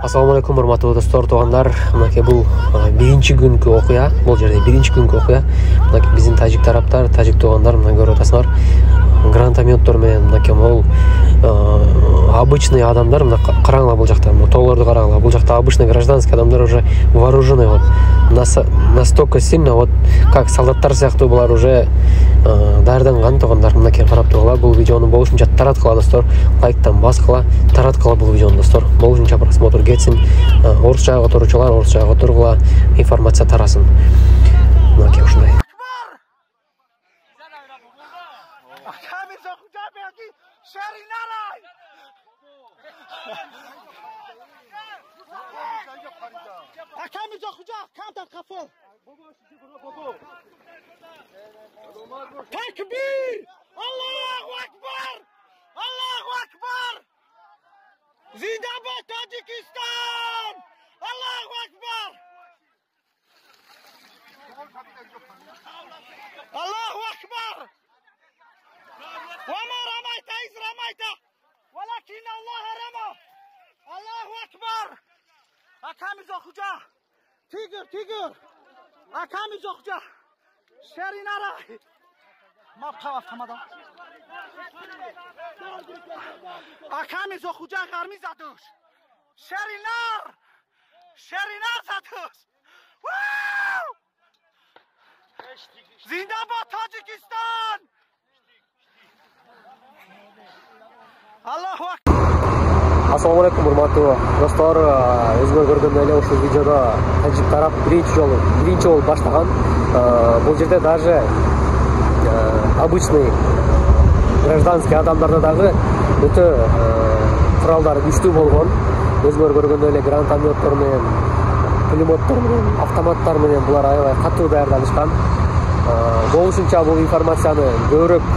Assalamu alaikum урматтуу достор, туугандар. Мынакей бул биринчи күнкү окуя. Бул жерде биринчи күнкү окуя. Мынакей биздин тажик тараптар, тажик туугандар мына көрүп атасыңар. Гранатометтор менен мынакей могул обычный адамдар мына караңла бул жакта, тоолорду караңла. Бул жакта обычный гражданский адамдар уже вооружены вот. Настолько сильно вот как солдаттар сыяктуу булар уже даярданган туугандар. Мынакей карап тургула. Бул видеону болушунча тараткыла достор. Лайктан баскыла, тараткыла бул видеону достор. Болушунча просмотр кетсин. Орусча которуучулар орусча которгула, информация тарасын. Мынакей ушундай. Takbir! Allahu Akbar! Allahu Akbar! Zindabad Tajikistan! Allahu Akbar! Allahu Akbar! وما رميت إذ رميت ولكن الله رمى. Allahu Akbar! Akamiz okuca. Tiger. Akamiz okuca. Şerinara. Maptava tamada. Akamiz okuca garmiz atış. Şerinar satış. Zindabad Tajikistan. Allahu Akbar. Assalamu alaikum урматтуу достор. Өзгөр көргөндөй эле ушул видеодо тажик тарап биринчи жолу баштаган. Бул жерде даже обычный гражданский адамдарда дагы өтө куралдар күчтүү болгон. Өзгөр көргөндөй эле гранатометтор менен, пулеметтор менен, автоматтар менен булар аябай катуу даярданышкан. Болушунча бул информацияны көбүрөөк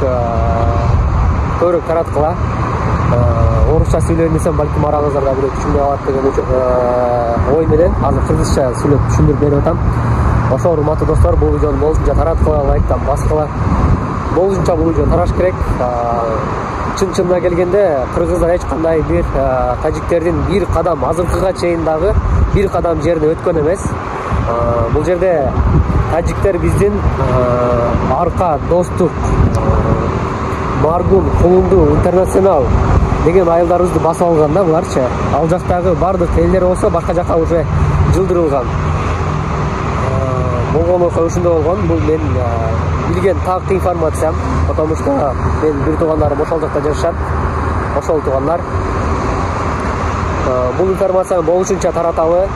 тараткыла. Орусча сүйлөйм десем, балким араңыздарда бирөө түшүнбөй калат деген ой менен азыр кыргызча сүйлөп түшүндүрүп берип атам. Ошо урматтуу достор, бул видеону болушунча тараткыла, лайктан баскыла. Болушунча бул видео тараш керек. Чын-чынына келгенде кыргыздар эч кандай бир тажиктердин бир кадам азыркыга чейин дагы бир кадам жерине өткөн эмес. Бул жерде тажиктер биздин арка, достук, Маргун, Кулунду, Интернационал деген айылдарыбызды басып алган да буларчы. Ал жактагы бардык элдер болсо башка жака уже жылдырылган. Болгон окуя ушундай болгон. Бул мен билген так информациям, потому что мен бир туугандарым ошол жакта жашашат. Ошол туугандар. Бул информацияны болушунча тараталы.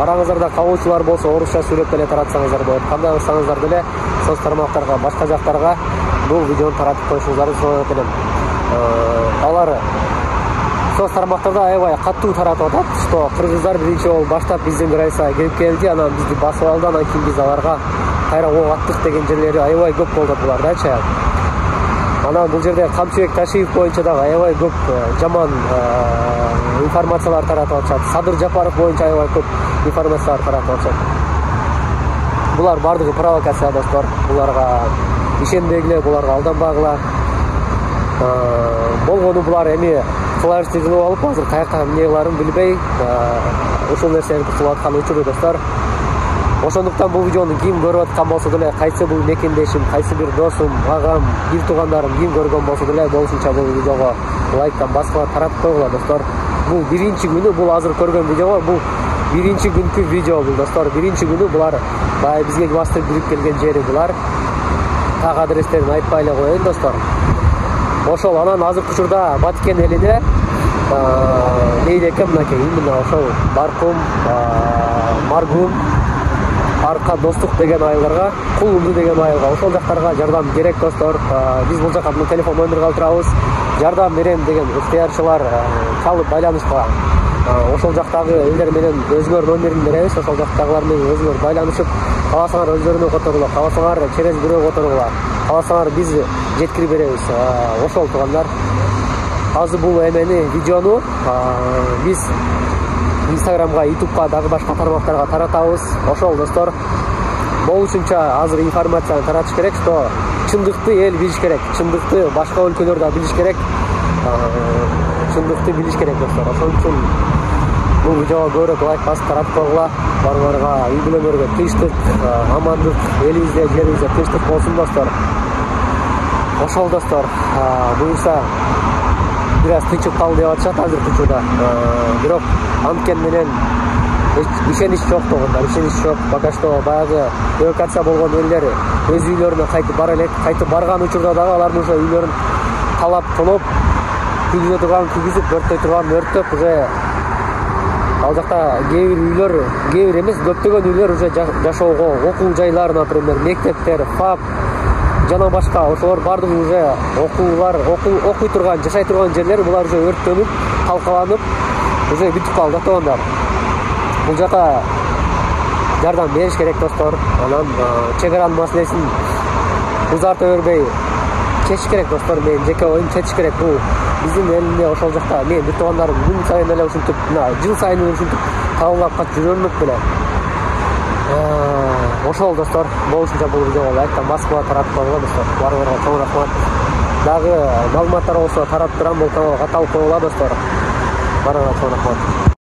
Араңыздарда кабылчулар болсо орусча сүйлөп деле таратсаңыздар болот. Кандай кылсаңыздар деле соц тармактарга, башка жактарга бул видеону таратып коюшуңуздарды сурап этем. Алар соц тармактарда аябай катуу таратып атат, что кыргыздар биринчи жолу баштап биздин границага келип келди, анан бизди басып алды, анан кийин биз аларга кайра ок аттык деген жерлери аябай көп болду булардачы. Анан бул жерде Камчыбек Ташиев боюнча дагы аябай көп жаман информациялар таратып атышат. Садыр Жапаров боюнча аябай көп информациялар таратып атышат. Булар бардыгы провокация достор. Буларга ишенбегиле, буларга алданбагыла. Болгону булар эми флешти кылып алып, азыр каяка эмне кыларын билбей, ушул нерсени кылып аткан учуру достор. Ошондуктан бул видеону ким көрүп аткан болсо деле, кайсы бул мекендешим, кайсы бир досум, агам, бир туугандарым ким көргөн болсо деле, болушунча бул видеого лайктан баскыла, таратып койгула достор. Бул биринчи күнү, бул азыр көргөн видеого, бул биринчи күнкү видео бул достор. Биринчи күнү булар бай бизге бастырып бирип келген жери булар. Так адрестерин айтпай эле коеюн достор. Ошол анан азыркы учурда Баткен элине мейли экен мынакей именно ошол Баркум, Маргун, Арка, Достук деген айылдарга, Кулунду деген айылга, ошол жактарга жардам керек достор. Биз бул жака телефон номер калып турабыз. Жардам берем деген ыктыярчылар чалып байланышка. Ошол жактагы элдер менен өзгөр номерин беребиз. Ошол жактагылар менен өзгөр байланышып, кааласаңар өздөрүнө которгула, кааласаңар через бирөө которгула, кааласаңар биз жеткирип беребиз. Ошол туугандар. Азыр бул эмени видеону биз Instagramга, YouTubeга, дагы башка тармактарга таратабыз. Ошол достор, болушунча азыр информацияны таратыш керек, что чындыкты эл билиш керек, чындыкты башка өлкөлөр да билиш керек. Чындыкты билиш керек достор. Ошон үчүн видеого көбүрөөк лайк басып таратып койгула. Баарыңарга үй бүлөңөргө тынчтык, амандык, элибизде, жерибизде тынчтык болсун достор. Ошол достор, буюрса бир аз тынчыкталды деп атышат азыркы учурда. Бирок анткени менен ишенич жок болгондор, ишенич жок. Пока что баягы эвакуация болгон элдер өз үйлөрүнө кайтып бара элек. Кайтып барган учурда дагы алардын уже үйлөрүн талап тоноп, күйгүзө турган күйгүзүп, өрттөй турган өрттөп, уже ал жакта кээ бир үйлөр, кээ бир эмес, көптөгөн үйлөр уже жашоого, окуу жайлары, например, мектептер, ФАП жана башка ошолор баардыгы уже окуй турган, жашай турган жерлер булар уже өрттөнүп, талкаланып, уже бүтүп калды тоондар. Бул жака жардам бериш керек достор. Анан чек аранын маселесин узарта бербей чечиш керек достор. Мен жеке оюм чечиш керек. Бул биздин элде ошол жакта мен бүт туугандарым күн сайын эле ушинтип, жыл сайын ушинтип табылып катып жүрөмүк беле. Ошол достор, болушунча бул видеого лайктан басып таратып койгула достор. Баарыңарга чоң рахмат. Дагы маалыматтар болсо таратып турам, бул каналга катталып койгула достор. Баарыңарга чоң рахмат.